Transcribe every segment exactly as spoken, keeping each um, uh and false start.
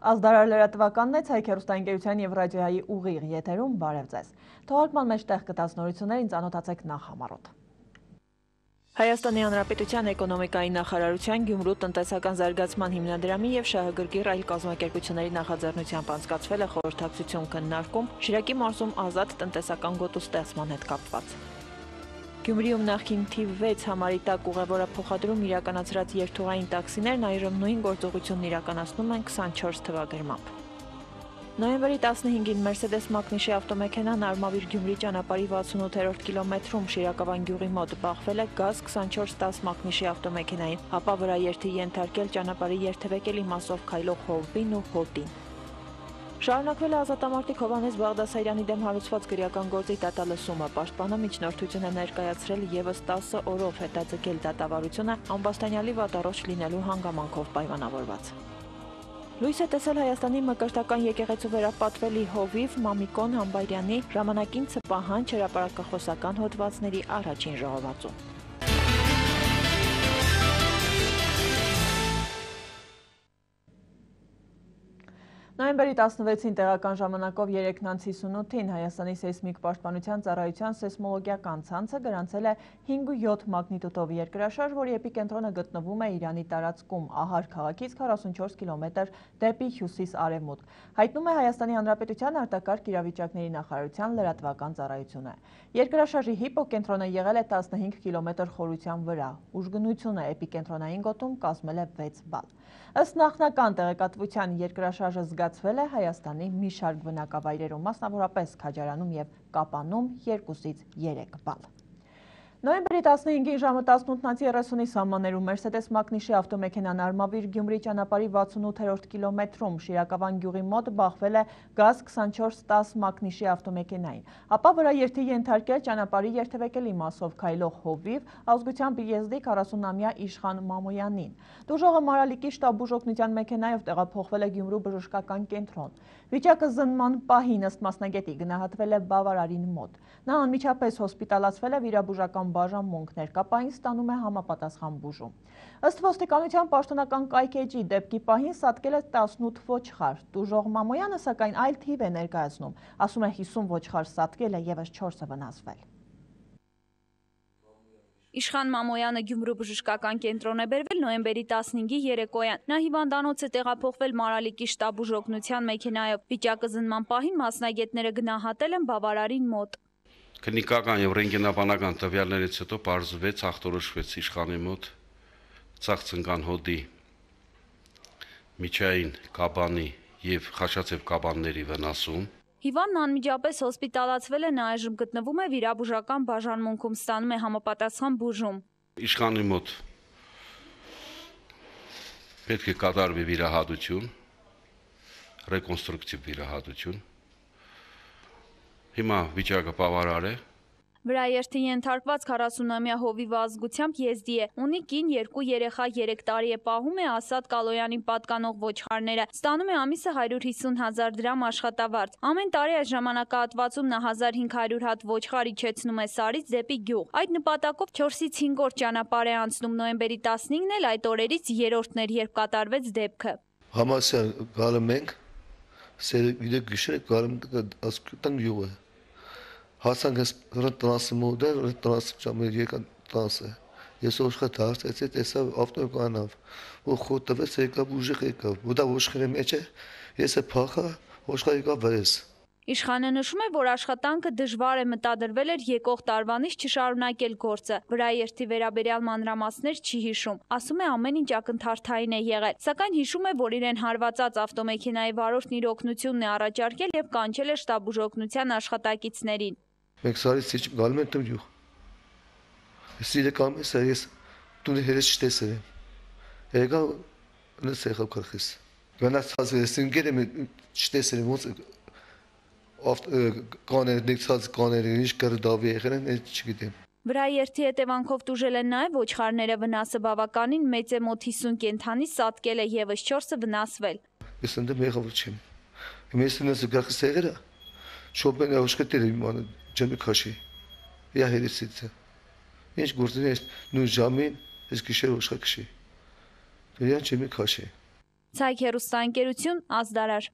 Ազդարար լրատվականն է, Ցայք հեռուստաընկերության և ռադիոյի ուղիղ եթերում, բարև ձեզ։ Թողարկման մեջ տեղ գտած նորություններին ծանոթացեք նախամարոտ։ Հայաստանի Հանրապետության էկոնոմիկայի նախարարության, Գյումրու տնտեսական զարգացման հիմնադրամի և շահագրգիռ այլ կազմակերպությունների նախաձեռնությամբ անցկացվել է խորհրդակցություն քննարկում Շիրակի մարզում ազատ տնտեսական գոտու ստեղծման հետ կապված։ Գյումրիում նախկին թիվ վեց համարի տակ ուղևորափոխադրում իրականացրած երթուղային տաքսիներն այժմ նույն գործողությունն իրականացնում են քսանչորս թվագրմամբ։ Նոյեմբերի տասնհինգին Մերսեդես մակնիշի ավտոմեքենան Արմավիր Գյումրի ճանապարհի վաթսունութերորդ կիլոմետրում Շիրակավան գյուղի մոտ բախվել է գազ քսանչորս տաս մակնիշի ավտոմեքենային, ապա վրաերթի ենթարկել ճանապարհի երթևեկելի մասով քայլող հովվին ու հոտին։ Շարունակվել է ազատամարտիկ Հովհաննես Բաղդասարյանի դեմ հարուցված գրական գործի դատալսումը, պաշտպանը միջնորդություն է ներկայացրել ևս տասը օրով հետաձգել դատավարությունը ամբաստանյալի վատառողջ լինելու հանգամանքով պայմանավորված։ Լույս է տեսել Հայաստանի Մկրտական եկեղեցու վերապատվելի հովիվ Մամիկոն Համբայրյանի ժամանակին Ցպահանջ հրապարակախոսական հոդվածների առաջին ժողովածու։ Նոյեմբերի տասնվեցին տեղական ժամանակով երեքնանց հիսունութին Հայաստանի սեյսմիկ պաշտպանության ծառայության սեյսմոլոգիական ցանցը գրանցել է հինգ ու յոթ մագնիտուդով երկրաշարժ, որի էպիկենտրոնը գտնվում է Իրանի տարածքում Ահար քաղաքից քառասունչորս կիլոմետր դեպի հյուսիս-արևմուտք, հայտնում է Հայաստանի Հանրապետության արտակարգ իրավիճակների նախարարության լրատվական ծառայությունը։ Երկրաշարժի հիպոկենտրոնը եղել է տասնհինգ կիլոմետր խորության վրա, ուժգնությունը էպիկենտրոնային գոտում կազմել է վեց բալ։ Ըստ նախնական տեղեկատվության երկրաշարժը զգացվել է Հայաստանի մի շարք բնակավայրերում, մասնավորապես Քաջարանում և Կապանում երկուսից երեք բալ։ Նոյեմբերի տասնհինգին ժամը տասնութ երեսունի սահմաններում Մերսեդես մակնիշի ավտոմեքենան Արմավիր Գյումրի ճանապարհի վաթսունութերորդ կիլոմետրում Շիրակավան գյուղի մոտ բախվել է գազ քսանչորս տաս մակնիշի ավտոմեքենային, ապա վրաերթի ենթարկել ճանապարհի երթևեկելի մասով քայլող հովիվ ազգությամբ եզդի քառասունամյա Իշխան Մամոյանին։ Տուժողը Մարալիկի շտաբ բուժօգնության մեքենայով տեղափոխվել է Գյումրու բժշկական կենտրոն։ Վիճակը զննման պահին ըստ մասնագետի գնահատվել է բավարարին մոտ։ Նա անմիջապես հոսպիտալացվել է վիրաբուժական բաժանմունք, ներկապային ստանում է համապատասխան բուժում։ Ըստ ոստիկանության պաշտոնական կայքէջի դեպքի պահին սատկել է տասնութ ոչխար։ Տուժող Մամոյանը սակայն այլ թիվ է ներկայացնում, ասում է հիսուն ոչխար սատկել է, ևս չորսը վնասվել։ Իշխան Մամոյանը Գյումրու բժշկական կենտրոն է բերվել նոյեմբերի տասնհինգի երեկոյան։ Նա հիվանդանոց է տեղափոխվել Մարալիկի շտաբ բուժօգնության մեքենայով։ Վիճակը զննման պահին մասնագետները գնահատել են բավարարին մոտ։ Քննիկական եւ ռենտգենաբանական տվյալներից հետո պարզվեց, ախտորոշվեց Իշխանի մոտ ծաղցնկան հոդի, միջային կաբանի եւ խաշացև կաբանների վնասում։ Հիվանդն անմիջապես հոսպիտալացվել է, նա այժմ գտնվում է վիրաբուժական բաժանմունքում, ստանում է համապատասխան բուժում։ Իշխանի մոտ պետք է կատարվի վիրահատություն, ռեկոնստրուկտիվ վիրահատություն։ Հիմա վիճակը բավարար է։ Վրաերթի ենթարկված քառասունամյա հովիվը ազգությամբ եզդի է, ունի կին, երկու երեխա, երեք տարի է, պահում է Ասադ Կալոյանին պատկանող ոչխարները, ստանում է ամիսը հարյուր հիսուն հազար դրամ աշխատավարձ։ Ամեն տարի այս ժամանակահատվածում նա հազար հինգ հարյուր հատ ոչխար իջեցնում է Սարից դեպի գյուղ։ Այդ նպատակով չորսից հինգ օր ճանապարհ է անցնում, նոյեմբերի տասնհինգն էլ այդ օրերից երրորդն էր, երբ կատարվեց դեպքը։ Համասյան գալում ենք, սերվիդը գիշեր գալում ասկուտան գյուղը։ Հասանք տնասի մոդը, տնասի ճամը եկան տնասը։ Ես ոչխար դարձեցի, տեսա ավտոկանավ, ու խոտվեց եկավ ուժեղ եկավ, ու դա ոչխարի մեջ է, ես է փախա, ոչխար եկավ վրես։ Իշխանը նշում է, որ աշխատանքը դժվար է, մտադրվել էր եկող տարվանից չշարունակել գործը, վրաերթի վերաբերյալ մանրամասներ չի հիշում, ասում է ամեն ինչ ակնթարթային է եղել, սակայն հիշում է, որ իրեն հարվածած ավտոմեքենայի վարորդն իր օգնությունն է առաջարկել և կանչել է շտաբ բուժօգնության աշխատակիցներին։ Մենք Սարից գալում ենք գյուղ։ Ես իրական ես, ես տունի հերս չտեսել եմ։ Եկա նս եղավ քրխիս։ Գնացած ես ինքեր եմ չտեսել եմ ոնց կաներ նիքսած կաները ինչ կրդավի եղել են, ես չգիտեմ։ Վրաերթի հետևանքով տուժել են նաև ոչխարները, վնասը բավականին մեծ է, մոտ հիսուն կենդանի սատկել է, ևս չորսը վնասվել։ Ես ընդդեմ եղավ չեմ։ Հիմա ես նս գախս եղել է։ Շոպեն աշխատել եմ ման ջամի քաշի։ Յա հերիսիցը։ Ինչ գործին ես նույն ժամին ես գիշեր ուշքաշի։ Դրան ջամի քաշի։ Ցայք հեռուստաընկերություն, Ազդարար։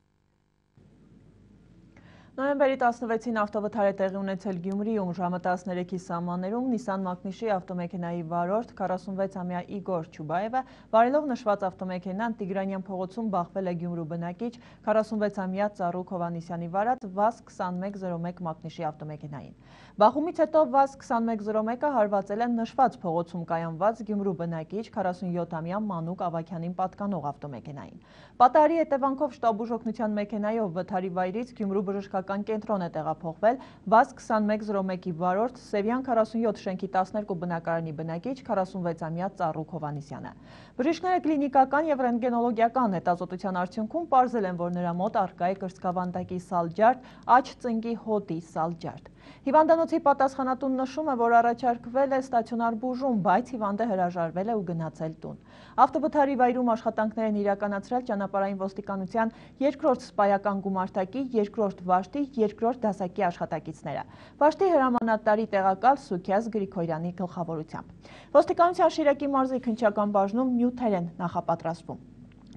Նոյեմբերի տասնվեցին ավտովթար է տեղի ունեցել Գյումրիում ժամը տասներեքի սահմաններում Նիսան Մակնիշի ավտոմեքենայի վարորդ քառասունվեցամյա Իգոր Չուբաևը վարելով նշված ավտոմեքենան Տիգրանյան փողոցում բախվել է Գյումրու բնակիչ քառասունվեցամյա Ծառուկ Հովհաննիսյանի վարած վազ քսանմեկ զրո մեկ Մակնիշի ավտոմեքենային։ Բախումից հետո վազ քսանմեկ զրո մեկը հարվածել է նշված փողոցում կայանված Գյումրու բնակիչ քառասունյոթամյա Մանուկ Ավագյանին պատկանող ավտոմեքենային։ Պատահարի հետևանքով շտաբ ուժօգնության մեքենայով վթարի վայրից Գյումրու բժշկական կենտրոն է տեղափոխվել վազ քսանմեկ զրո մեկի վարորդ Սևյան քառասունյոթ շենքի տասներկու բնակարանի բնակիչ քառասունվեցամյա Ծառուկ Հովհաննիսյանը։ Բժիշկները կլինիկական եւ ռենտգենոլոգիական հետազոտության արդյունքում պարզել են, որ նրա մոտ առկա է կրծքավանդակի սալջարդ, աջ ծնկի հոտի սալջարդ։ Հիվանդանոցի պատասխանատուն նշում է, որ առաջարկվել է ստացիոնար բուժում, բայց հիվանդը հրաժարվել է ու գնացել տուն։ Ավտովթարի վայրում աշխատանքներ են իրականացրել ճանապարհային ոստիկանության երկրորդ սպայական գումարտակի, երկրորդ վաշտի, երկրորդ դասակի աշխատակիցները։ Վաշտի հրամանատարի տեղակալ Սուքիազ Գրիգորյանի գլխավորությամբ։ Ոստիկանության Շիրակի մարզի քննչական բաժնում նյութեր են նախապատրաստվում։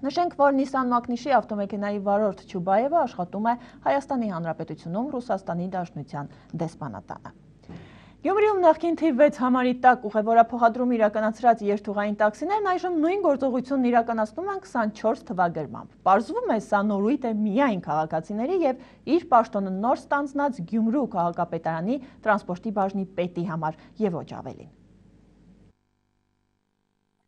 Նշենք, որ Նիսան Մակնիշի ավտոմեքենայի վարորդ Չուբաևը աշխատում է Հայաստանի Հանրապետությունում Ռուսաստանի Դաշնության դեսպանատանը։ Գյումրիում նախկին թիվ վեց համարի տակ ուղևորափոխադրում իրականացրած երթուղային տաքսիներն այժմ նույն գործողությունն իրականացնում են քսանչորս թվագրմամբ։ Պարզվում է, սա նորույթ է միայն քաղաքացիների եւ իր պաշտոնը նոր ստանձնած Գյումրու քաղաքապետարանի տրանսպորտի բաժնի պետի համար եւ ոչ ավելին։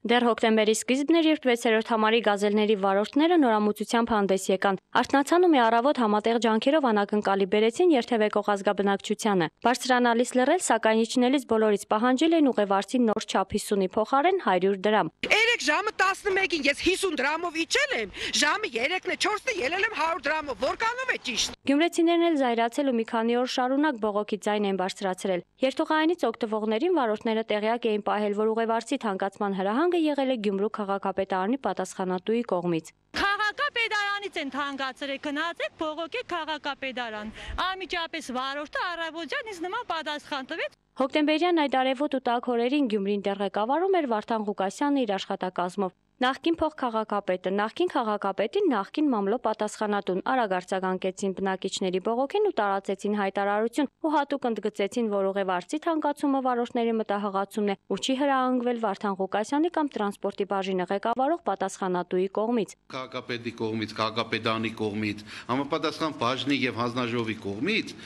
Դեռ հոկտեմբերի սկիզբն էր, երբ վեցերորդ համարի գազելների վարորդները նորամուծությամբ հանդես եկան։ Արթնացան ու մի առավոտ համատեղ ջանքերով անակնկալի բերեցին երթևեկող ազգաբնակչությանը։ Բարձրանալիս լռել, սակայն իջնելիս բոլորից պահանջել են ուղևարցի նոր չափ հիսունի փոխարեն հարյուր դրամ։ Երեք ժամը տասնմեկին ես հիսուն դրամով իջել եմ, ժամը երեքն է, չորսն է ելել եմ հարյուր դրամով, որքանով է ճիշտ։ Գյումրեցիներն էլ զայրացել ու մի քանի օր շարունակ բողոքի ձայն են բարձրացրել։ Երթուղայինից օգտվողներին վարորդները տեղյակ էին պահել, որ ուղևարցի թանկացման հրահանգը եղել է Գյումրու քաղաքապետարանի պատասխանատուի կողմից։ Քաղաքապետարանից են թանկացրել, գնացեք բողոքեք քաղաքապետարան։ Անմիջապես վարորդը առավոտյան ինձ նման պատասխան տվեց։ Հոկտեմբերյան այդ արևոտ ու տաք օրերին Գյումրին դեռ ղեկավարում էր Վարդան Ղուկասյանը իր աշխատակազմով։ Նախկին փոխքաղաքապետը, նախկին քաղաքապետին, նախկին մամլո պատասխանատուն արագ արձագանքեցին բնակիչների բողոքին ու տարածեցին հայտարարություն ու հատուկ ընդգծեցին, որ ուղևարցի թանկացումը վարորդների մտահղացումն է ու չի հրահանգվել Վարդան Ղուկասյանի կամ տրանսպորտի բաժինը ղեկավարող պատասխանատուի կողմից։ Քաղաքապետի կողմից, քաղաքապետարանի կողմից, համապատասխան բաժնի եւ հանձնաժողովի կողմից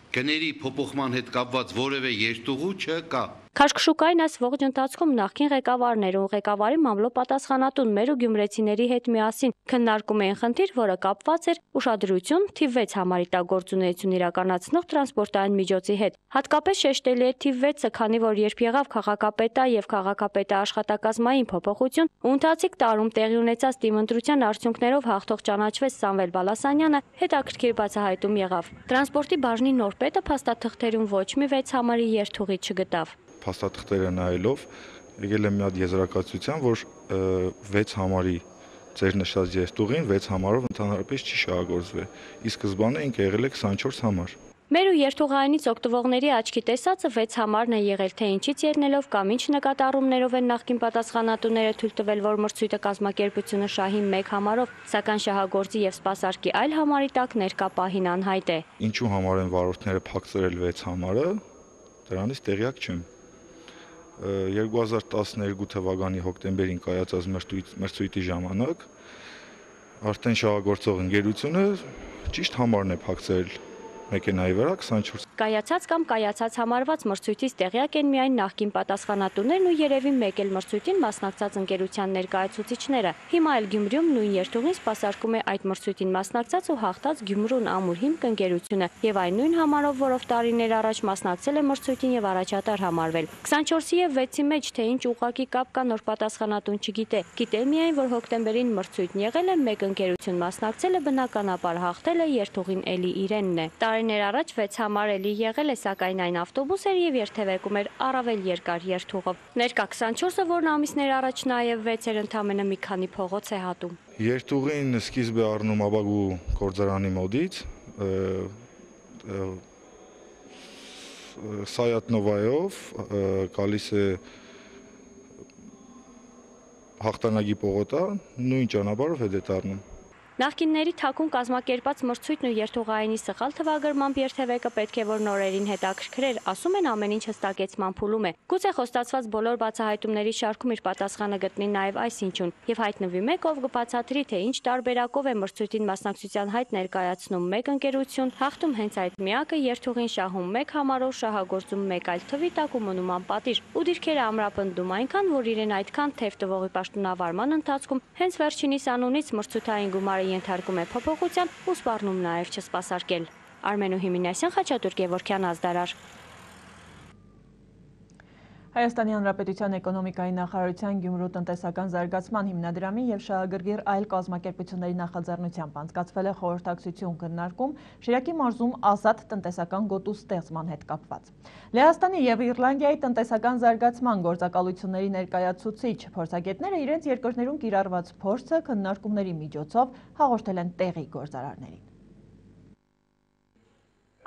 գների փոփոխման հետ կապված որևէ երթուղու չկա։ Քաշքշուկային այս ողջ ընթացքում նախկին ղեկավարները ու ղեկավարի մամլո պատասխանատուն մեր ու գյումրեցիների հետ միասին քննարկում էին խնդիր, որը կապված էր ուշադրություն թիվ վեց համարի տակ գործունեություն իրականացնող տրանսպորտային միջոցի հետ։ Հատկապես շեշտելի է թիվ վեցը, քանի որ երբ եղավ քաղաքապետա եւ քաղաքապետա աշխատակազմային փոփոխություն, ու ընթացիկ տարում տեղի ունեցած տիմընտրության արդյունքներով հաղթող ճանաչվեց Սամվել Բալասանյանը, հետաքրքիր բացահայտում եղավ։ Տրանսպորտի բաժնի նոր պետը փաստաթղթերում ոչ մի վեց համարի երթուղի չգտավ։ Փաստաթղթերը նայելով եկել է մի հատ եզրակացության, որ վեց համարի ձեր նշած երթուղին վեց համարով ընդհանրապես չի շահագործվել։ Ի սկզբանե ինքը եղել է քսանչորս համար։ Մեր ու երթուղայինից օգտվողների աչքի տեսածը վեց համարն է եղել, թե ինչից ելնելով կամ ինչ նկատառումներով են նախկին պատասխանատուները թույլ տվել, որ մրցույթը կազմակերպությունը շահի մեկ համարով, սակայն շահագործի եւ սպասարկի այլ համարի տակ ներկա պահին անհայտ է։ Ինչու համար են վարորդները փակցրել վեց համարը, դրանից տեղյակ չեմ։ երկու հազար տասներկու թվականի հոկտեմբերին կայացած մրցույթի ժամանակ արդեն շահագործող ընկերությունը ճիշտ համարն է փակցրել մեքենայի վրա քսանչորս։ Կայացած կամ կայացած համարված մրցույթից տեղյակ են միայն նախկին պատասխանատուներն ու երևի մեկ էլ մրցույթին մասնակցած ընկերության ներկայացուցիչները։ Հիմա էլ Գյումրիում նույն երթուղին սպասարկում է այդ մրցույթին մասնակցած ու հաղթած Գյումրուն ամուր հիմք ընկերությունը եւ այն նույն համարով, որով տարիներ առաջ մասնակցել է մրցույթին եւ առաջատար համարվել։ քսանչորսի եւ վեցի մեջ թե ինչ ուղղակի կապ կա նոր պատասխանատուն չգիտե։ Գիտե միայն, որ հոկտեմբերին մրցույթն եղել է, մեկ ընկերություն մասնակցել է, բնականաբար հաղթել է, երթուղին էլի իրենն է։ Տարիներ առաջ վեց համար էլի եղել է, սակայն այն ավտոբուս էր եւ երթևեկում էր առավել երկար երթուղով։ Ներկա քսանչորսը, որն ամիսներ առաջ նաեւ վեց էր, ընդամենը մի քանի փողոց է հատում։ Երթուղին սկիզբ է առնում Աբագու գործարանի մոդից, Սայատնովայով գալիս է հաղթանակի պողոտա, նույն ճանապարհով հետ է դառնում։ Նախկինների թաքուն կազմակերպած մրցույթն ու երթուղայինի սխալ թվագրմամբ երթևեկը պետք է որ նորերին հետաքրքրեր, ասում են ամեն ինչ հստակեցման փուլում է։ Գուցե խոստացված բոլոր բացահայտումների շարքում իր պատասխանը գտնի նաև այս ինչուն եւ հայտնվի մեկ, ով կբացատրի, թե ինչ տարբերակով է մրցույթին մասնակցության հայտ ներկայացնում մեկ ընկերություն, հաղթում հենց այդ միակը, երթուղին շահում մեկ համարով, շահագործում մեկ այլ թվի տակ ու մնում անպատիժ։ Ու դիրքերը ամրապնդում այնքան, որ իրեն այդքան թեև տվողի պաշտոնավարման ընթացքում հենց վերջինիս անունից մրցութային գումարը ենթարկում է փոփոխության ու սպառնում նաև չսպասարկել։ Արմենու Հիմինասյան, Խաչատուր Գևորգյան, Ազդարար։ Հայաստանի Հանրապետության էկոնոմիկայի նախարարության Գյումրու տնտեսական զարգացման հիմնադրամի եւ շահագրգիռ այլ կազմակերպությունների նախաձեռնությամբ անցկացվել է խորհրդակցություն քննարկում Շիրակի մարզում ազատ տնտեսական գոտու ստեղծման հետ կապված։ Լեհաստանի եւ Իռլանդիայի տնտեսական զարգացման գործակալությունների ներկայացուցիչ փորձագետները իրենց երկրներում կիրառված փորձը քննարկումների միջոցով հաղորդել են տեղի գործարարներին։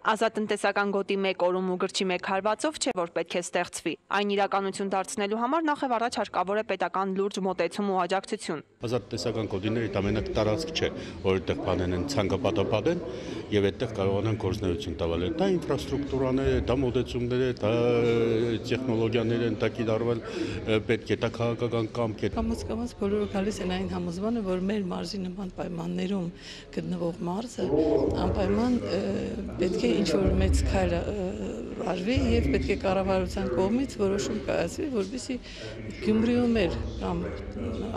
Ազատ տնտեսական գոտի մեկ օրում ու գրչի մեկ հարվածով չէ, որ պետք է ստեղծվի։ Այն իրականություն դարձնելու համար նախ եւ առաջ հարկավոր է պետական լուրջ մոտեցում ու աջակցություն։ Ազատ տնտեսական գոտիները ամենակ տարածք չէ, որ այդտեղ բանեն են ցանկապատապատեն եւ այդտեղ կարողանան գործունեություն տալ։ Դա ինֆրաստրուկտուրաներ է, դա մոտեցումներ է, դա տեխնոլոգիաներ են, դա կիրառվել պետք է, դա քաղաքական կամք է։ Կամաց-կամաց բոլորը գալիս են այն համոզմանը, որ մեր մարզի նման պայմաններում գտնվող մարզը անպայման պետք է ինչ-որ մեծ քայլ արվի եւ պետք է կառավարության կողմից որոշում կայացվի, որպեսզի Գյումրիում էլ կամ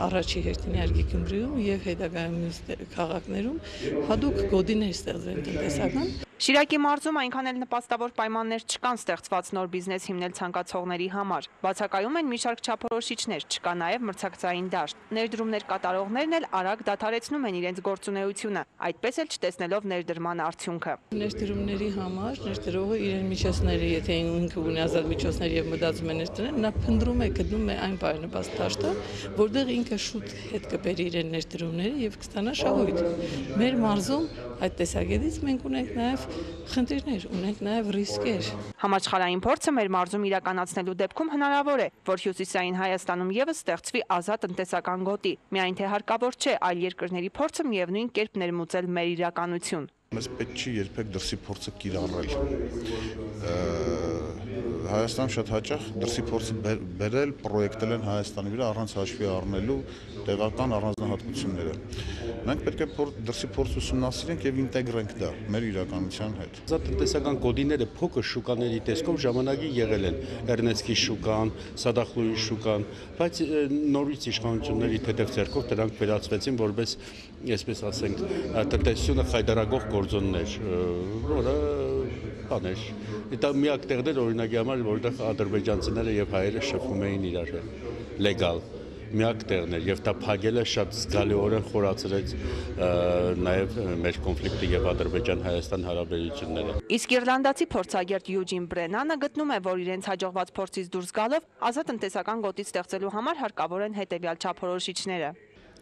առաջի հերթին իհարկե Գյումրիում եւ հետագայում քաղաքներում հadoop գոտիներ ստեղծվեն տնտեսական։ Շիրակի մարզում այնքան էլ նպաստավոր պայմաններ չկան ստեղծված նոր բիզնես հիմնել ցանկացողների համար։ Բացակայում են մի շարք չափորոշիչներ, չկա նաև մրցակցային դաշտ։ Ներդրումներ կատարողներն էլ արագ դադարեցնում են իրենց գործունեությունը, այդպես էլ չտեսնելով ներդրման արդյունքը։ Ներդրումների համար ներդրողը իրեն միջոցները, եթե ինքը ունի ազատ միջոցներ եւ մտածում է ներդրել, նա փնտրում է, գտնում է այն բարենպաստ դաշտը, որտեղ ինքը շուտ հետ կբերի իրեն ներդրումները եւ կստանա շահույթ։ Մեր մարզում այդ տեսակետից մենք ունենք նաև խնդիրներ, ունենք նաև ռիսկեր։ Համաշխարհային փորձը մեր մարզում իրականացնելու դեպքում հնարավոր է, որ Հյուսիսային Հայաստանում եւս ստեղծվի ազատ տնտեսական գոտի։ Միայն թե հարկավոր չէ այլ երկրների փորձը միևնույն կերպ ներմուծել մեր իրականություն։ Մեզ պետք չի երբեք դրսի փորձը կիրառել։ Հայաստանում շատ հաճախ դրսի փորձը բերել, պրոյեկտել են Հայաստանի վրա առանց հաշվի առնելու տեղական առանձնահատկությունները։ Մենք պետք է դրսի փորձ ուսումնասիրենք եւ ինտեգրենք դա մեր իրականության հետ։ Ազատ տնտեսական գոտիները փոքր շուկաների տեսքով ժամանակի եղել են Էրնեստի շուկան, Սադախլուի շուկան, բայց նորից իշխանությունների թեթև ձեռքով դրանք վերածվեցին որպես, այսպես ասենք, տնտեսությունը խայդարագող գործոններ, որը բաներ։ Դա միակ տեղն էր օրինակի համար, որտեղ ադրբեջանցիները եւ հայերը շփվում էին իրար հետ լեգալ միակ տեղն էր եւ դա փակելը շատ զգալիորեն խորացրեց նաեւ մեր կոնֆլիկտը եւ Ադրբեջան-Հայաստան հարաբերությունները։ Իսկ իռլանդացի փորձագետ Յուջին Բրենանը գտնում է, որ իրենց հաջողված փորձից դուրս գալով ազատ տնտեսական գոտի ստեղծելու համար հարկավոր են հետեւյալ չափորոշիչները։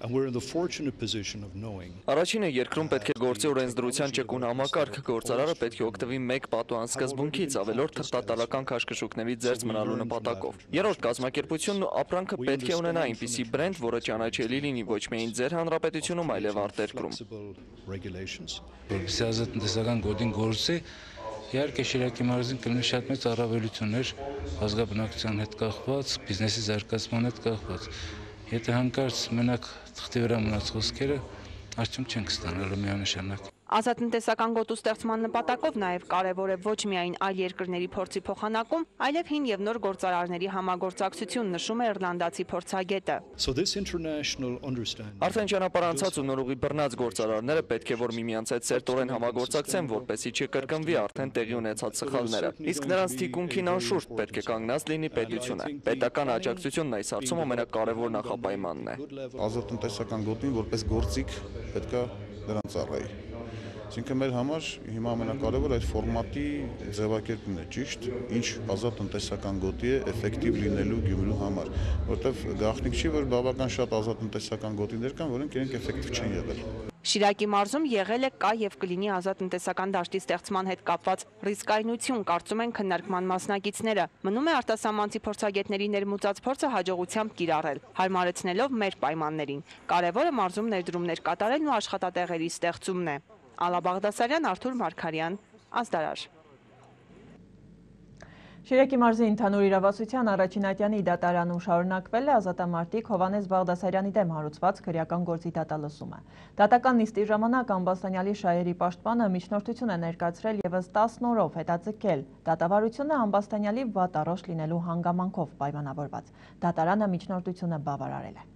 Առաջինը երկրում պետք է գործի օրենսդրության ճկուն համակարգ, գործարարը պետք է օգտվի մեկ պատուհան սկզբունքից, ավելորդ թղթատարական քաշքշուկների ձեռք մնալու նպատակով։ Երրորդ կազմակերպությունն ու ապրանքը պետք է ունենա այնպիսի բրենդ, որը ճանաչելի լինի ոչ միայն ձեր հանրապետությունում, այլև արտերկրում։ Որպեսզի ազատ տնտեսական գոտին գործի, իհարկե Շիրակի մարզին կլինի շատ մեծ առավելություններ ազգաբնակության հետ կախված, բիզնեսի զարգացման հետ կախված։ Եթե հանկարծ մենակ թղթի վրա մնաց խոսքերը, արդյունք չենք ստանալու միանշանակ։ Ազատ տնտեսական գոտու ստեղծման նպատակով նաև կարևոր է ոչ միայն այլ երկրների փորձի փոխանակում, այլև հին եւ նոր գործարարների համագործակցություն, նշում է իռլանդացի փորձագետը։ Արդեն ճանապարհ անցած ու նորուղի բռնած գործարարները պետք է որ միմյանց հետ սերտորեն համագործակցեն, որպեսզի չկրկնվի արդեն տեղի ունեցած սխալները։ Իսկ նրանց թիկունքին անշուշտ պետք է կանգնած լինի պետությունը։ Պետական աջակցությունն այս հարցում ամենակարևոր նախապայմանն է։ Ազատ տնտեսական գոտին որպես գործիք պետք է դրան ծառայի։ Այսինքն մեր համար հիմա ամենակարևորը այդ ֆորմատի ձևակերպումն է, ճիշտ, ինչ ազատ տնտեսական գոտի է էֆեկտիվ լինելու Գյումրու համար, որովհետև գաղտնիք չի, որ բավական շատ ազատ տնտեսական գոտիներ կան, որոնք իրենք էֆեկտիվ չեն եղել։ Շիրակի մարզում եղել է, կա եւ կլինի ազատ տնտեսական դաշտի ստեղծման հետ կապված ռիսկայնություն, կարծում են քննարկման մասնակիցները։ Մնում է արտասահմանցի փորձագետների ներմուծած փորձը հաջողությամբ կիրառել, հարմարեցնելով մեր պայմաններին։ Կարևորը մարզում ներդրումներ կատարելն ու աշխատատեղերի ստեղծումն է։ Ալա Բաղդասարյան, Արթուր Մարգարյան, Ազդարար։ Շիրակի մարզի ընդհանուր իրավասության առաջին ատյանի դատարանում շարունակվել է ազատամարտիկ Հովհաննես Բաղդասարյանի դեմ հարուցված քրեական գործի դատալսումը։ Դատական նիստի ժամանակ Ամբաստանյալի շահերի պաշտպանը միջնորդություն է ներկայացրել ևս տասն օրով հետաձգել դատավարությունը Ամբաստանյալի վատառոշ լինելու հանգամանքով պայմանավորված։ Դատարանը միջնորդությունը բավարարել է։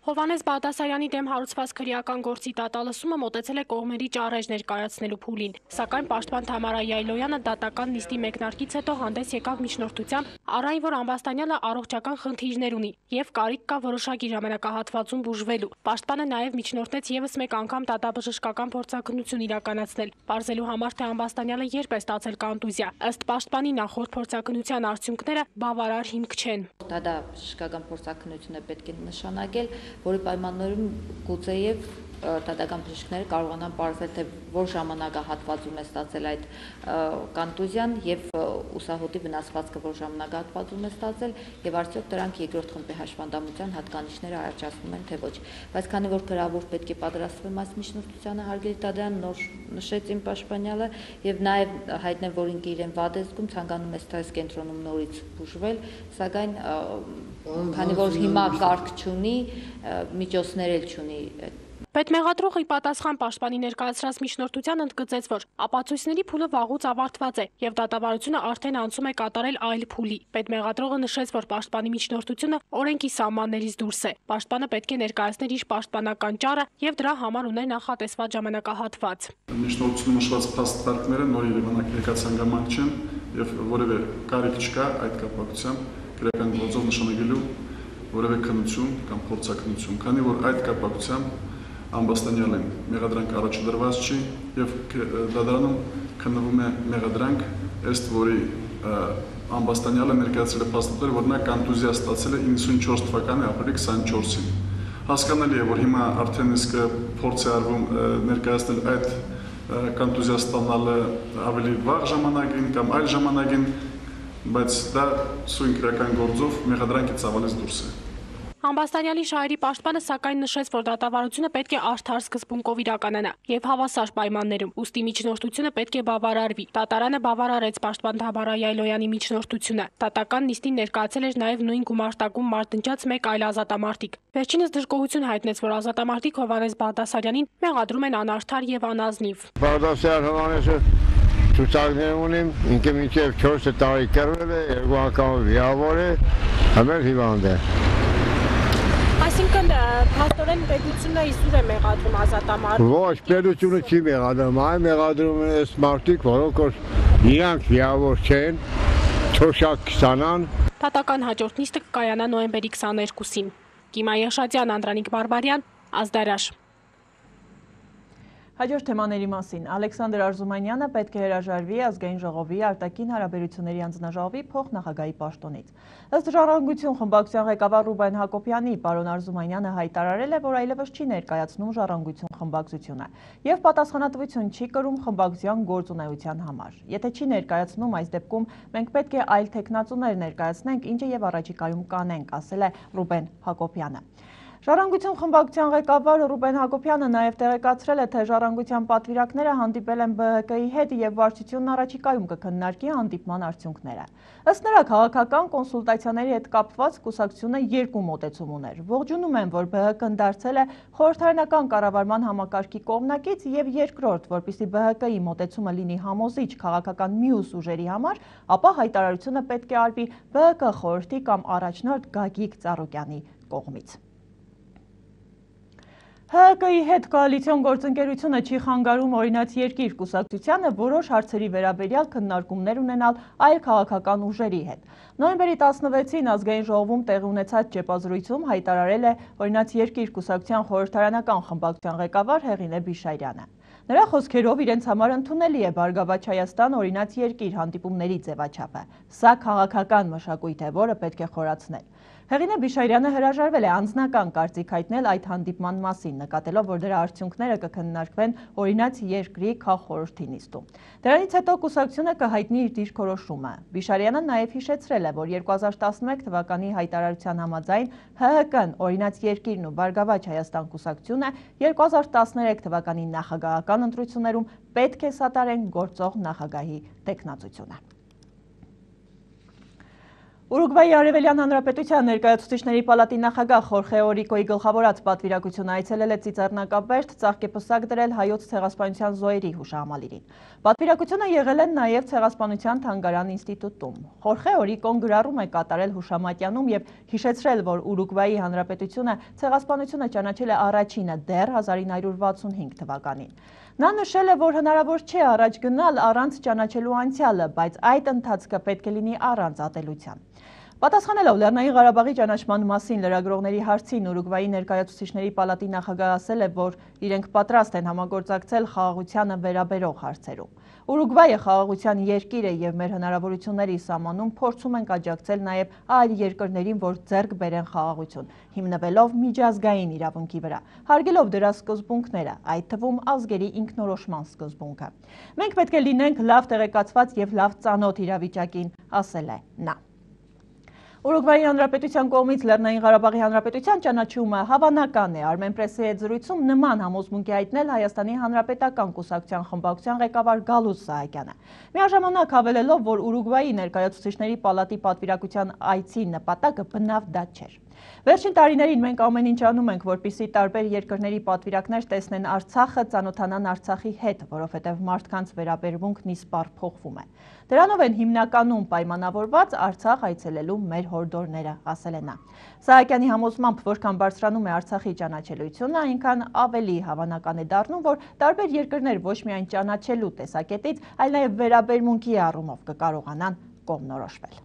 Հովհաննես Բաղդասարյանի դեմ հարուցված քրեական գործի դատալսումը մոտեցել է կողմերի ճառեժ ներկայացնելու փուլին, սակայն պաշտպան Թամարա Յայլոյանը դատական նիստի մեկնարկից հետո հանդես եկավ միջնորդությամբ, առայն որ Ամբաստանյանը առողջական խնդիրներ ունի եւ կարիք կա որոշակի ժամանակահատվածում բուժվելու։ Պաշտպանը նաեւ միջնորդեց եւս մեկ անգամ դատաբժշկական փորձակնություն իրականացնել, պարզելու համար թե Ամբաստանյանը երբ է ստացել կոնտուզիա։ Ըստ պաշտպանի նախորդ փորձակնության արդյունքները բավարար հիմք չեն։ Դատաբժշկական փորձակնությունը պետք է նշանակել, որի պայմաններում գուցեև դատական բժիշկները կարողանան պարզել, թե որ ժամանակահատվածում է ստացել այդ կոնտուզիան եւ ուսահոդի վնասվածքը որ ժամանակահատվածում է ստացել եւ արդյոք դրանք երկրորդ խմբի հաշվանդամության հատկանիշները առաջացնում են թե ոչ։ Բայց քանի որ գրավոր պետք է պատրաստվեն այս միջնորդությանը, հարգելի դատարան նոր նշեց իմ պաշտպանյալը եւ նաեւ հայտնել, որ ինքը իրեն վատ է զգում, ցանկանում է սթրես կենտրոնում նորից բուժվել, սակայն քանի որ հիմա կարգ չունի, միջոցներ էլ չունի։ Պետմեղադրողը ի պատասխան պաշտպանի ներկայացրած միջնորդության ընդգծեց, որ ապացույցների փուլը վաղուց ավարտված է եւ դատավարությունը արդեն անցում է կատարել այլ փուլի։ Պետմեղադրողը նշեց, որ պաշտպանի միջնորդությունը օրենքի սահմաններից դուրս է։ Պաշտպանը պետք է ներկայացներ իր պաշտպանական ճառը եւ դրա համար ուներ նախատեսված ժամանակահատված։ Միջնորդությունը նշված փաստարկները նոր Երևանակ ներկայացանք չեն եւ որևէ կարիք չկա այդ կապակցությամբ քրեական գործով նշանակելու որևէ քննություն կամ փորձակնություն, քանի որ այդ կապակցությամբ Ամբաստանյալին մեղադրանք առաջադրված չի եւ դատարանում քննվում է մեղադրանք, ըստ որի Ամբաստանյալը ներկայացրել է փաստաթղթեր, որ նա կոնտուզիա ստացել է իննսունչորս թվականի ապրիլի քսաներկուսին։ Հասկանալի է, որ հիմա արդեն իսկ փորձ է արվում ներկայացնել այդ կոնտուզիա ստանալը ավելի վաղ ժամանակին կամ այլ ժամանակին, բայց դա սույն քրեական գործով մեղադրանքի ծավալից դուրս է։ Ամբաստանյալի շահերի պաշտպանը սակայն նշեց, որ դատավարությունը պետք է արդար սկզբունքով իրականանա եւ հավասար պայմաններում, ուստի միջնորդությունը պետք է բավարարվի։ Դատարանը բավարարեց պաշտպան Թամարա Յայլոյանի միջնորդությունը։ Դատական նիստին ներկայացել էր նաեւ նույն գումարտակում մարտնջած մեկ այլ ազատամարտիկ։ Վերջինս դժգոհություն հայտնեց, որ ազատամարտիկ Հովհաննես Բաղդասարյանին մեղադրում են անարդար եւ անազնիվ։ Բաղդասարյան Հովհաննեսը ցուցակներ ունիմ, ինքը մինչեւ չորս տարի կռվել է, երկու անգամ վիրավոր է, ամեն հիվանդ է։ Այսինքն փաստորեն պետությունը իզուր է մեղադրում ազատամարտիկ։ Ոչ, պետությունը չի մեղադրում, այ մեղադրում են այս մարդիկ, որոնք իրանք վիրավոր չեն, թոշակ կստանան։ Դատական հաջորդ նիստը կկայանա նոյեմբերի քսաներկուսին։ Կիմա Եղշաջյան, Անդրանիկ Բարբարյան, Ազդարար։ Հաջորդ թեմաների մասին Ալեքսանդր Արզումանյանը պետք է հրաժարվի ազգային ժողովի արտաքին հարաբերությունների անձնաժողովի փոխնախագահի պաշտոնից։ Ըստ Ժառանգություն խմբակցության ղեկավար Ռուբեն Հակոբյանի, պարոն Արզումանյանը հայտարարել է, որ այլևս չի ներկայացնում Ժառանգություն խմբակցությունը եւ պատասխանատվություն չի կրում խմբակցության գործունեության համար։ Եթե չի ներկայացնում, այս դեպքում մենք պետք է այլ թեկնածուներ ներկայացնենք, ինչը եւ առաջիկայում կանենք, ասել է Ռուբեն Հակոբյանը։ Ժառանգություն խմբակցության ղեկավար Ռուբեն Հակոբյանը նաև տեղեկացրել է, թե Ժառանգության պատվիրակները հանդիպել են B H K-ի հետ եւ վարչությունն առաջիկայում կքննարկի հանդիպման արդյունքները։ Ըստ նրա, քաղաքական կոնսուլտացիաների հետ կապված կուսակցությունը երկու մոտեցում ուներ։ Ողջունում են, որ B H K-ն դարձել է խորհրդարանական կառավարման համակարգի կողմնակից եւ երկրորդ, որպեսզի B H K-ի մոտեցումը լինի համոզիչ քաղաքական մյուս ուժերի համար, ապա հայտարարությունը պետք է արվի B H K խորհրդի կամ առաջնորդ Գագիկ Ծառուկյանի կողմից։ Հ Կ-ի հետ կոալիցիոն գործընկերությունը չի խանգարում օրինաց երկիր կուսակցությանը որոշ հարցերի վերաբերյալ քննարկումներ ունենալ այլ քաղաքական ուժերի հետ։ Նոյեմբերի տասնվեցին ազգային ժողովում տեղի ունեցած ճեպազրույցում հայտարարել է օրինաց երկիր կուսակցության խորհրդարանական խմբակցության ղեկավար Հեղինե Բիշայրյանը։ Նրա խոսքերով իրենց համար ընդունելի է Բարգավաճ Հայաստան օրինաց երկիր հանդիպումների ձևաչափը։ Սա քաղաքական մշակույթ է, որը պետք է խորացնել։ Հեղինե Բիշայրյանը հրաժարվել է անձնական կարծիք հայտնել այդ հանդիպման մասին, նկատելով, որ դրա արդյունքները կքննարկվեն օրինաց երկրի քաղխորհրդի նիստում։ Դրանից հետո կուսակցությունը կհայտնի իր դիրքորոշումը։ Բիշայրյանը նաև հիշեցրել է, որ երկու հազար տասնմեկ թվականի հայտարարության համաձայն Հ Կ-ն օրինաց երկիրն ու Բարգավաճ Հայաստան կուսակցությունը երկու հազար տասներեք թվականի նախագահական ընտրություններում պետք է սատարեն գործող նախագահի տեխնացությունը։ Ուրուգվայի Արևելյան Հանրապետության ներկայացուցիչների պալատի նախագահ Խորխե Օրիկոյի գլխավորած պատվիրակությունը այցելել է Ծիծեռնակաբերդ ծաղկեպսակ դրել հայոց ցեղասպանության զոհերի հուշահամալիրին։ Պատվիրակությունը եղել է նաև Ցեղասպանության թանգարան ինստիտուտում։ Խորխե Օրիկոն գրառում է կատարել հուշամատյանում եւ հիշեցրել, որ Ուրուգվայի Հանրապետությունը ցեղասպանությունը ճանաչել է առաջինը դեռ հազար ինը հարյուր վաթսունհինգ թվականին։ Նա նշել է, որ հնարավոր չէ առաջ գնալ առանց ճանաչելու անցյալը, բայց այդ ընթացքը պետք է լինի առանց ատելության։ Պատասխանելով Լեռնային Ղարաբաղի ճանաչման մասին լրագրողների հարցին Ուրուգվայի ներկայացուցիչների պալատի նախագահը ասել է, որ իրենք պատրաստ են համագործակցել խաղաղությանը վերաբերող հարցերում։ Ուրուգվայը խաղաղության երկիր է եւ մեր հնարավորությունների սահմանում փորձում ենք աջակցել նաեւ այլ երկրներին, որ ձեռք բերեն խաղաղություն, հիմնվելով միջազգային իրավունքի վրա, հարգելով դրա սկզբունքները, այդ թվում ազգերի ինքնորոշման սկզբունքը։ Մենք պետք է լինենք լավ տեղեկացված եւ լավ ծանոթ իրավիճակին, ասել է նա։ Ուրուգվայի Հանրապետության կողմից Լեռնային Ղարաբաղի Հանրապետության ճանաչումը հավանական է։ Armenpress-ի հետ զրույցում նման համոզմունք է հայտնել Հայաստանի Հանրապետական կուսակցության խմբակցության ղեկավար Գալուս Սահակյանը։ Միաժամանակ հավելելով, որ Ուրուգվայի ներկայացուցիչների պալատի պատվիրակության այցի նպատակը բնավ դա չէր։ Վերջին տարիներին մենք ամեն ինչ անում ենք, որպեսզի տարբեր երկրների պատվիրակներ տեսնեն Արցախը, ծանոթանան Արցախի հետ, որովհետև մարդկանց վերաբերմունքն իսպառ փոխվում է։ Դրանով են հիմնականում պայմանավորված Արցախ այցելելու մեր հորդորները, ասել է նա։ Սահակյանի համոզմամբ, որքան բարձրանում է Արցախի ճանաչելիությունը, այնքան ավելի հավանական է դառնում, որ տարբեր երկրներ ոչ միայն ճանաչելու տեսակետից, այլ նաև վերաբերմունքի առումով կկարողանան կողմնորոշվել։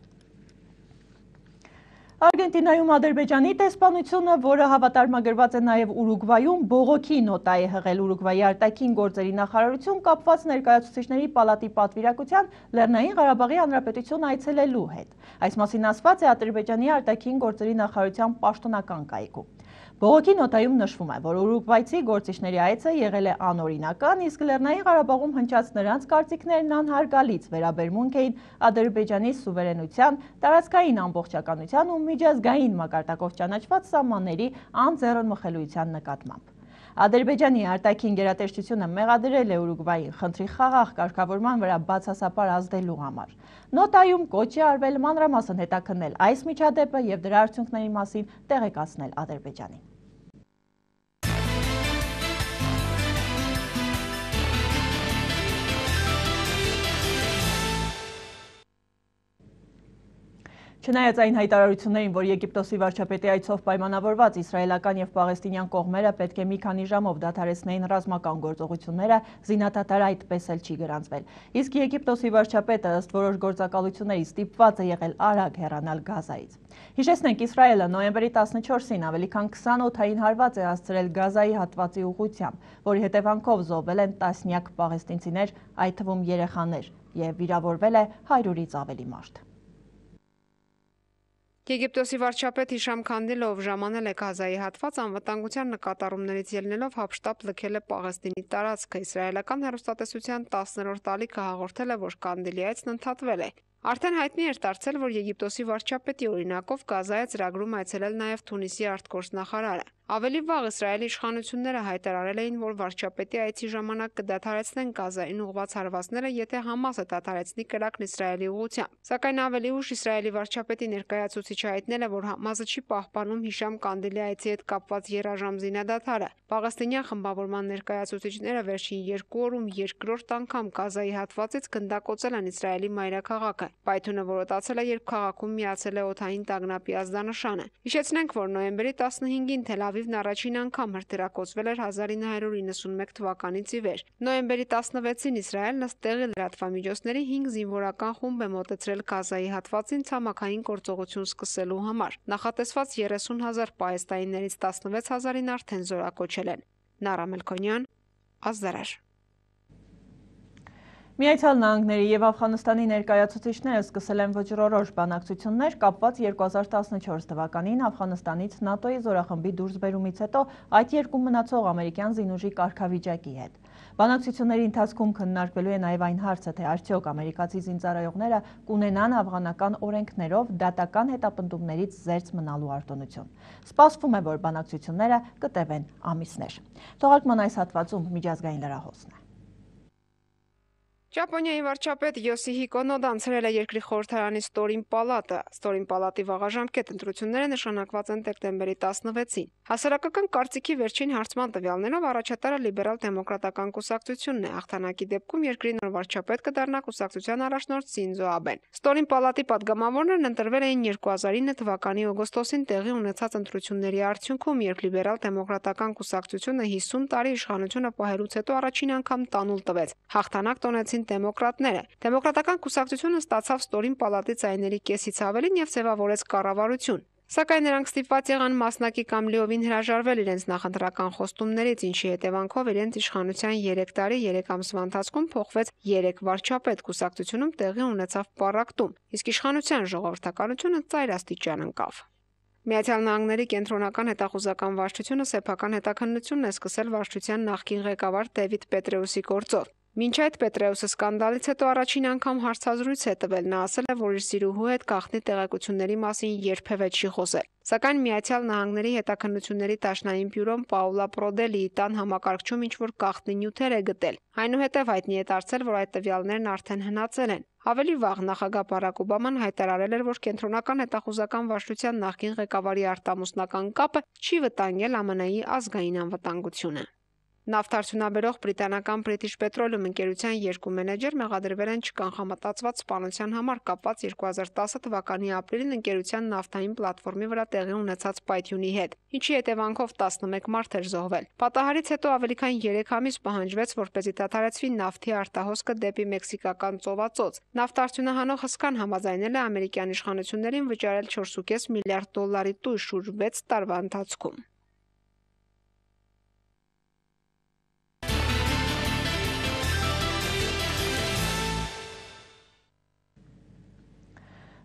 Արգենտինայում Ադրբեջանի տեսփանությունը, որը հավատարմագրված է նաև Ուրուգվայում, բողոքի նոտա է հղել Ուրուգվայի արտաքին գործերի նախարարություն կապված ներկայացուցիչների պալատի պատվիրակության Լեռնային Ղարաբաղի Հանրապետություն այցելելու հետ։ Այս մասին ասված է Ադրբեջանի արտաքին գործերի նախարարության պաշտոնական կայքում։ Բողոքի նոտայում նշվում է, որ ուրուգվայցի գործիչների այցը եղել է անօրինական, իսկ Լեռնային Ղարաբաղում հնչած նրանց կարծիքներն անհարգալից վերաբերմունք էին Ադրբեջանի սուվերենության, տարածքային ամբողջականության ու միջազգային մակարդակով ճանաչված սահմանների անձեռնմխելիության նկատմամբ։ Ադրբեջանի արտաքին գերատեսչությունը մեղադրել է Ուրուգվային խնդրի խաղաղ կարգավորման վրա բացասապար ազդելու համար։ Նոտայում կոչ է արվել մանրամասն հետաքննել այս միջադեպը եւ դրա արդյունքների մասին տեղեկացնել Ադրբեջանին։ Չնայած այն հայտարարություններին, որ Եգիպտոսի վարչապետի այցով պայմանավորված իսրայելական եւ պաղեստինյան կողմերը պետք է մի քանի ժամով դադարեցնեին ռազմական գործողությունները, զինադադարը այդպես էլ չի գրանցվել։ Իսկ Եգիպտոսի վարչապետը ըստ որոշ գործակալությունների ստիպված է եղել արագ հեռանալ Գազայից։ Հիշեցնենք, Իսրայելը նոյեմբերի տասնչորսին ավելի քան քսան օդային հարված է հասցրել Գազայի հատվածի ուղղությամբ, որի հետևանքով զոհվել են տասնյակ պաղեստինցիներ, այդ թվում երեխաներ, եւ վիրավորվել է հարյուրից ավելի մարդ։ Եգիպտոսի վարչապետ Հիշամ Քանդիլով ժամանել է Գազայի հատված անվտանգության նկատառումներից ելնելով հապշտապ լքել է Պաղեստինի տարածքը։ Իսրայելական հեռուստատեսության տասներորդ ալիքը հաղորդել է, որ Քանդիլի այցն ընդհատվել է։ Արդեն հայտնի էր դարձել, որ Եգիպտոսի վարչապետի օրինակով Գազայի ծրագրում այցելել նաև Թունիսի արտգործնախարարը։ Ավելի վաղ Իսրայելի իշխանությունները հայտարարել էին, որ վարչապետի այցի ժամանակ կդադարեցնեն Գազային ուղղված հարվածները, եթե Համասը դադարեցնի կրակն Իսրայելի ուղղությամբ։ Սակայն ավելի ուշ Իսրայելի վարչապետի ներկայացուցիչը հայտնել է, որ Համասը չի պահպանում Հիշամ Կանդիլի այցի հետ կապված երաժամ զինադադարը։ Պաղեստինյան խմբավորման ներկայացուցիչները վերջին երկու օրում երկրորդ անգամ Գազայի հատվածից գնդակոծել են Իսրայելի մայրաքաղաքը։ Պայթյունը որոտացել է, երբ քաղաքում միացել է օդային տագնապի ազդանշանը։ Հիշեցնենք, որ նոյեմբերի տասնհինգին Թել Ավիվ Ավիվն առաջին անգամ հրթիռակոծվել էր հազար ինը հարյուր իննսունմեկ թվականից ի վեր։ Նոյեմբերի տասնվեցին Իսրայելն ըստ տեղի լրատվամիջոցների հինգ զինվորական խումբ է մոտեցրել Գազայի հատվածին ցամաքային գործողություն սկսելու համար։ Նախատեսված երեսուն հազար պաղեստիններից տասնվեց հազարին արդեն զորակոչել են։ Նարա Մելքոնյան, Ազդարար։ Միացյալ Նահանգների և Աֆղանստանի ներկայացուցիչները սկսել են վճռորոշ բանակցություններ կապված երկու հազար տասնչորս թվականին Աֆղանստանից ՆԱՏՕ-ի զորախմբի դուրսբերումից հետո այդ երկրում մնացող ամերիկյան զինուժի կարգավիճակի հետ։ Բանակցությունների ընթացքում քննարկվելու է նաև այն հարցը, թե արդյոք ամերիկացի զինծառայողները կունենան աֆղանական օրենքներով դատական հետապնդումներից զերծ մնալու արտոնություն։ Սպասվում է, որ բանակցությունները կտևեն ամիսներ։ Թողարկման այս հատվածում միջազգային լրահոսն է։ Ճապոնիայի վարչապետ Յոսիհիկո Նոդան ցրել է երկրի խորհրդարանի ստորին պալատը։ Ստորին պալատի վաղաժամկետ ընտրությունները նշանակված են դեկտեմբերի տասնվեցին։ Հասարակական կարծիքի վերջին հարցման տվյալներով առաջատարը լիբերալ դեմոկրատական կուսակցությունն է։ Հաղթանակի դեպքում երկրի նոր վարչապետ կդառնա կուսակցության առաջնորդ Սինզո Աբեն։ Ստորին պալատի падգամավորներն ընտրվել էին երկու հազար ինը թվականի օգոստոսին տեղի ունեցած ընտրությունների արդյունքում, երբ լիբերալ դեմոկրատական կուսակցությունը հիսուն տարի իշխանությունը պահելուց հետո առաջին անգամ տանուլ տվեց։ Հաղթանակ տոնեցին դեմոկրատները։ Դեմոկրատական կուսակցությունը ստացավ ստորին պալատի ձայների կեսից ավելին եւ ձևավորեց կառավարություն։ Սակայն նրանք ստիպված եղան մասնակի կամ լիովին հրաժարվել իրենց նախընտրական խոստումներից, ինչի հետևանքով իրենց իշխանության երեք տարի երեք ամսվա ընթացքում փոխվեց երեք վարչապետ, կուսակցությունում տեղի ունեցավ պառակտում, իսկ իշխանության ժողովրդականությունը ծայրաստիճան ընկավ։ Միացյալ Նահանգների կենտրոնական հետախուզական վարչությունը սեփական հետաքննությունն է սկսել վարչության նախկին ղեկավար Դեվիդ Պետրեուսի գործով։ Մինչ այդ Պետրեուսը սկանդալից հետո առաջին անգամ հարցազրույց է տվել, նա ասել է, որ իր սիրուհու հետ գաղտնի տեղեկությունների մասին երբևէ չի խոսել։ Սակայն Միացյալ Նահանգների հետաքննությունների դաշնային բյուրոն Պաուլա Պրոդելիի տան համակարգչում ինչ-որ գաղտնի նյութեր է գտել։ Այնուհետև հայտնի է դարձել, որ այդ տվյալներն արդեն հնացել են։ Ավելի վաղ նախագահ Բարակ Օբաման հայտարարել էր, որ կենտրոնական հետախուզական վարչության նախկին ղեկավարի արտամուսնական կապը չի վտանգել ԱՄՆ-ի ազգային անվտանգությունը։ Նավթարդյունաբերող բրիտանական British Petroleum ընկերության երկու մենեջեր մեղադրվել են չկանխամտածված սպանության համար կապված երկու հազար տասը թվականի ապրիլին ընկերության նավթային պլատֆորմի վրա տեղի ունեցած պայթյունի հետ, ինչի հետևանքով տասնմեկ մարդ էր զոհվել։ Պատահարից հետո ավելի քան երեք ամիս պահանջվեց, որպեսզի դադարեցվի նավթի արտահոսքը դեպի մեքսիկական ծովածոց։ Նավթարդյունահանող հսկան համաձայնել է ամերիկյան իշխանություններին վճարել չորս ու կես միլիարդ դոլարի տույժ շուրջ վեց տարվա ընթացքում։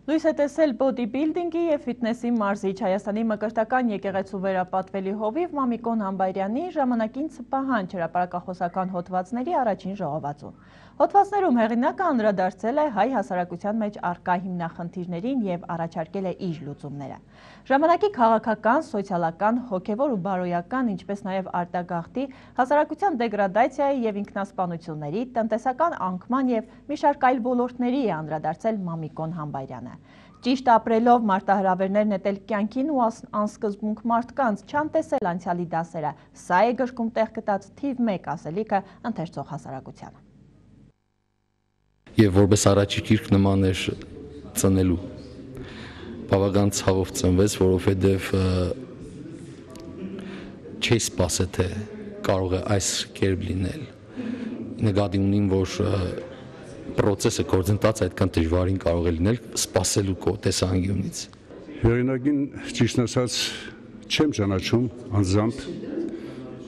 Լույս է տեսել բոդիբիլդինգի և ֆիթնեսի մարզիչ Հայաստանի մկրտական եկեղեցու վերապատվելի հովիվ Մամիկոն Համբայրյանի ժամանակին պահանջ հրապարակախոսական հոդվածների առաջին ժողովածուն։ Հոդվածներում հեղինակը անդրադարձել է հայ հասարակության մեջ առկա հիմնախնդիրներին և առաջարկել է իր լուծումները։ Ժամանակի քաղաքական, սոցիալական, հոգևոր ու բարոյական, ինչպես նաև արտագաղթի, հասարակության դեգրադացիայի և ինքնասպանությունների, տնտեսական անկման և մի շարք այլ ոլորտների է անդրադարձել Մամիկոն Համբայրյանը։ Ճիշտ ապրելով մարտահրավերներ նետել կյանքին ու անսկզբունք մարդկանց, չանտեսել անցյալի դասերը, սա է գրքում տեղ գտած թիվ մեկ ասելիքը ընթերցող հասարակությանը։ Եվ որպես առաջի գիրք նման էր ծնելու, բավական ցավով ծնվեց, որովհետև չի սպասել, թե կարող է այս կերպ լինել։ Նկատի ունիմ, որ պրոցեսը գործընթացը այդքան դժվարին կարող է լինել սպասելու տեսանկյունից։ Հեղինակին ճիշտ ասած չեմ ճանաչում անձամբ,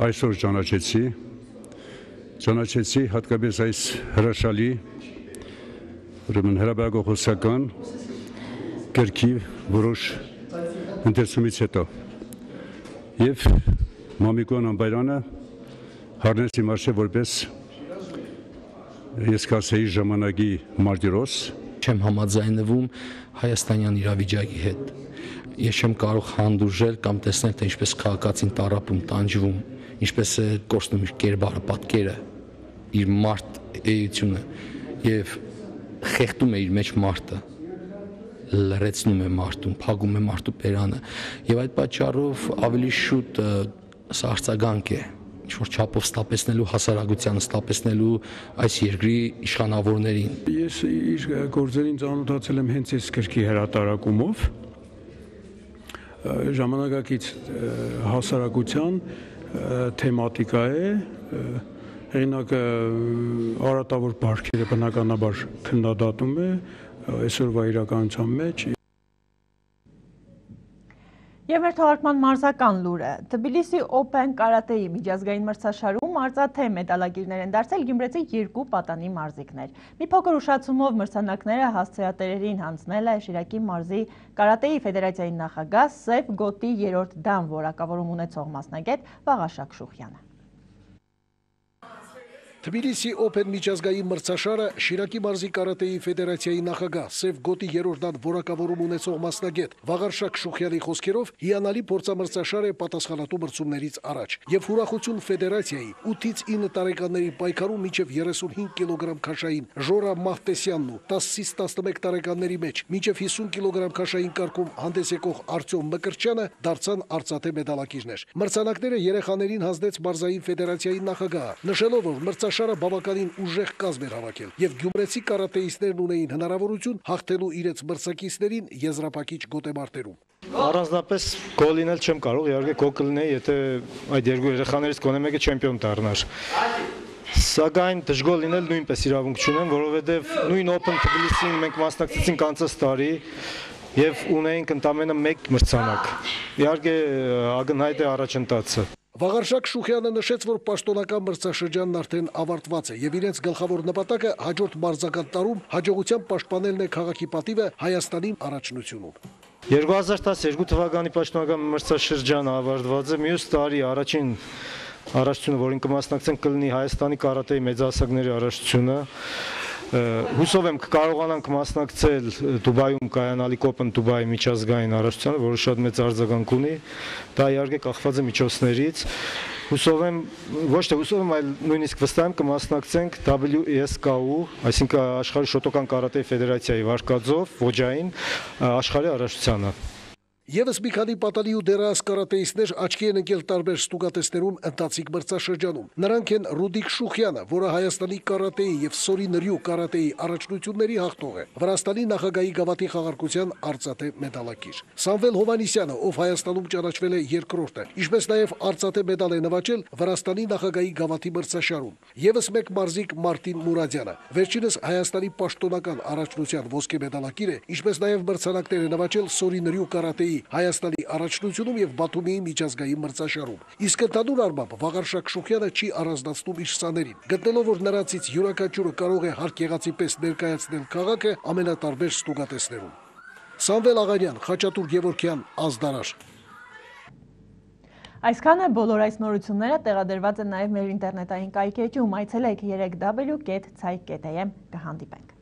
այսօր ճանաչեցի, ճանաչեցի հատկապես այս հրաշալի ուրեմն հրապարակախոսական գրքի որոշ ընթերցումից հետո եւ Մամիկոն Համբայրյանը հարնեցի մարշե որպես ես կասեի ժամանակի մարտիրոս չեմ համաձայնվում հայաստանյան իրավիճակի հետ։ Ես չեմ կարող հանդուրժել կամ տեսնել, թե ինչպես քաղաքացին տառապում, տանջվում, ինչպես է կորցնում իր կերպարը, պատկերը, իր մարդ էությունը եւ խեղդում է իր մեջ մարդը, լրացնում է մարդուն, փակում է մարդու բերանը եւ այդ պատճառով ավելի շուտ սա արձագանք է ինչ-որ չափով ստապեցնելու հասարակությանը, ստապեցնելու այս երկրի իշխանավորներին։ Ես իր գործերին ծանոթացել եմ հենց այս գրքի հրատարակումով, ժամանակակից հասարակության թեմատիկա է, հեղինակը արատավոր բարքերը բնականաբար քննադատում է այսօրվա իրականության մեջ։ Եվ մեր թողարկման մարզական լուրը, Թբիլիսի Open կարատեի միջազգային մրցաշարում արծաթե մեդալակիրներ են դարձել գյումրեցի երկու պատանի մարզիկներ։ Մի փոքր ուշացումով մրցանակները հասցեատերերին հանձնել է Շիրակի մարզի կարատեի ֆեդերացիայի նախագահ Սև Գոտի երրորդ դան որակավորում ունեցող մասնագետ Վաղարշակ Շուխյանը։ Թբիլիսի Open միջազգային մրցաշարը Շիրակի մարզի կարատեի ֆեդերացիայի նախագահ Սև Գոտի երրորդ դան որակավորում ունեցող մասնագետ Վաղարշակ Շուխյանի խոսքերով հիանալի փորձամրցաշար է պատասխանատու մրցումներից առաջ եւ ուրախություն ֆեդերացիայի ութից ինը տարեկանների պայքարում մինչեւ երեսունհինգ կիլոգրամ քաշային Ժորա Մահտեսյանն ու տասից տասնմեկ տարեկանների մեջ մինչեւ հիսուն կիլոգրամ քաշային կարգում հանդես եկող Արտյոմ Մկրտչյանը դարձան արծաթե մեդալակիրներ։ Մրցանակները երեխաներին հանձնեց մարզային ֆեդերացիայի նախագահը, նշելով, որ մրցաշարը բավականին ուժեղ կազմ էր հավաքել եւ գյումրեցի կարատեիստներն ունեին հնարավորություն հաղթելու իրենց մրցակիցներին եզրափակիչ գոտեմարտերում։ Առանձնապես գոլ լինել չեմ կարող, իհարկե գոլ կլինեի, եթե այդ երկու երեխաներից գոնե մեկը չեմպիոն դառնար։ Սակայն դժգոհ լինել նույնպես իրավունք չունեմ, որովհետեւ նույն Open Թբիլիսին մենք մասնակցեցինք անցած տարի եւ ունեինք ընդամենը մեկ մրցանակ։ Իհարկե ակնհայտ է առաջընթացը։ Վաղարշակ Շուխյանը նշեց, որ պաշտոնական մրցաշրջանն արդեն ավարտված է եւ իրենց գլխավոր նպատակը հաջորդ մարզական տարում հաջողությամբ պաշտպանելն է քաղաքի պատիվը Հայաստանի առաջնությունում։ երկու հազար տասներկու թվականի պաշտոնական մրցաշրջանը ավարտված է, մյուս տարի առաջին առաջնությունը, որին կմասնակցեն, կլինի Հայաստանի կարատեի մեծահասակների առաջնությունը։ Հուսով եմ կկարողանանք մասնակցել Դուբայում կայանալիք Open Դուբայի միջազգային առաջնությանը, որը շատ մեծ արձագանք ունի, դա իհարկե կախված է միջոցներից։ Հուսով եմ, ոչ թե հուսով եմ, այլ նույնիսկ վստահ եմ կմասնակցենք W S K U, այսինքն աշխարհի շոտոկան կարատեի ֆեդերացիայի վարկածով ոճային աշխարհի առաջնությանը։ Եվս մի քանի պատանի ու դեռահաս կարատեիստներ աչքի են ընկել տարբեր ստուգատեսներում ընթացիկ մրցաշրջանում։ Նրանք են Ռուդիկ Շուխյանը, որը Հայաստանի կարատեի եւ Սորի Նրյու կարատեի առաջնությունների հաղթող է, Վրաստանի նախագահի գավաթի խաղարկության արծաթե մեդալակիր, Սամվել Հովանիսյանը, ով Հայաստանում ճանաչվել է երկրորդը, ինչպես նաեւ արծաթե մեդալ է նվաճել Վրաստանի նախագահի գավաթի մրցաշարում։ Եվս մեկ մարզիկ Մարտին Մուրադյանը, վերջինս Հայաստանի պաշտոնական առաջնության ոսկե մեդալակիր է, ինչպես նաեւ մրցանակներ է նվաճել Սորի Նրյու կարատեի Հայաստանի առաջնությունում եւ Բաթումիի միջազգային մրցաշարում։ Իսկ ընդհանուր առմամբ Վաղարշակ Շուխյանը չի առանձնացնում իր սաներին, գտնելով, որ նրանցից յուրաքանչյուրը կարող է հարկ եղածի պես ներկայացնել քաղաքը ամենատարբեր ստուգատեսներում։ Սամվել Աղանյան, Խաչատուր Գևորգյան, Ազդարար։ Այսքան է, բոլոր այս նորությունները տեղադրված են նաև մեր ինտերնետային կայքեջում, այցելեք երեք w կետ ցայք կետ am, կհանդիպենք։